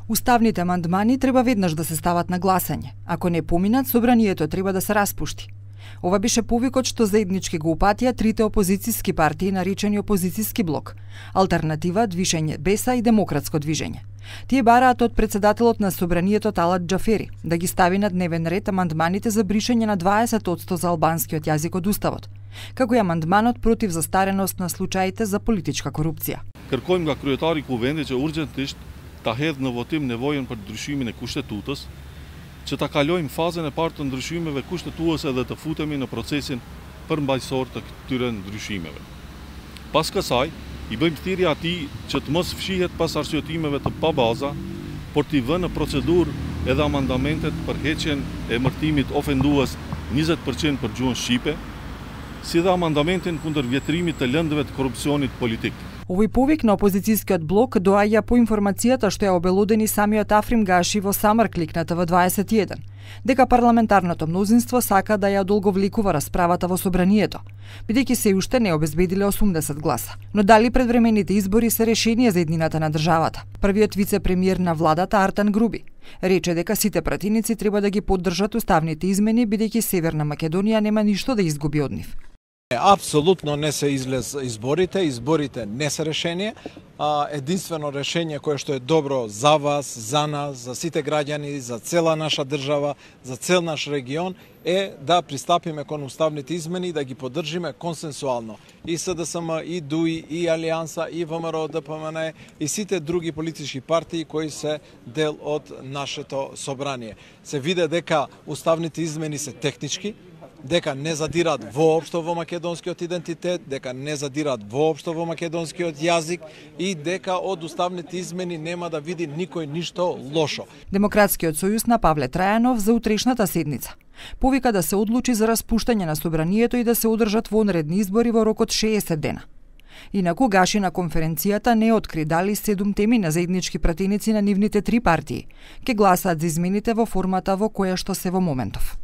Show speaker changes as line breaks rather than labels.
Уставните амандмани треба веднаш да се стават на гласање. Ако не поминат, собранието треба да се распушти. Ова беше повикот што заеднички го упатија трите опозицијски партии наречени опозицијски блок: Алтернатива, Движење Беса и Демократско движење. Тие бараат од председателот на собранието Талат Џафери да ги стави на дневен ред амандманите за бришење на 20% за албанскиот јазик од Уставот, како и амандманот против застареност на случаите за политичка корупција.
Kërkojmë nga kryetari i Kuvendit që urgjentisht ta hedhë në votim nevojën për ndryshimin e kushtetutës, që ta kalojmë fazën e parë të ndryshimeve kushtetuese dhe të futemi në procesin përmbajtësor të këtyre ndryshimeve. Pas kësaj, i bëjmë thirrje atij që të mos fshihet pas arsyetimeve të pabaza, por t'i vënë në procedurë edhe amandamentet për heqjen e emërtimit ofendues 20% për gjuhën shqipe, si dhe amandamentin kundër vjetrimit të lëndëve të korrupsionit politik.
Овој повик на опозицијскиот блок доаѓа по информацијата што ја обелодени самиот Африм Гаши во Самарклик на ТВ21, дека парламентарното мнозинство сака да ја одолговлекува расправата во собранието, бидејќи се уште не обезбедиле 80 гласа. Но дали предвремените избори се решение за еднината на државата? Првиот вице-премиер на владата Артан Груби рече дека сите пратеници треба да ги поддржат уставните измени, бидејќи Северна Македонија нема ништо да изгуби од нив.
Апсолутно не се излез изборите не се решение. Единствено решение кое што е добро за вас, за нас, за сите граѓани, за цела наша држава, за цел наш регион е да пристапиме кон уставните измени и да ги поддржиме консенсуално. И СДСМ, и ДУИ, и Алијанса, и ВМРО, ДПМН, и сите други политички партии кои се дел од нашето собрание. Се виде дека уставните измени се технички, дека не задират воопшто во македонскиот идентитет, дека не задират воопшто во македонскиот јазик и дека од уставните измени нема да види никој ништо лошо.
Демократскиот сојуз на Павле Трајанов за утрешната седница повика да се одлучи за распуштање на собранието и да се одржат вонредни избори во рок од 60 дена. Инаку Гаши на конференцијата не откри дали 7 теми на заеднички пратеници на нивните 3 партии ќе гласаат за измените во формата во која што се во моментов.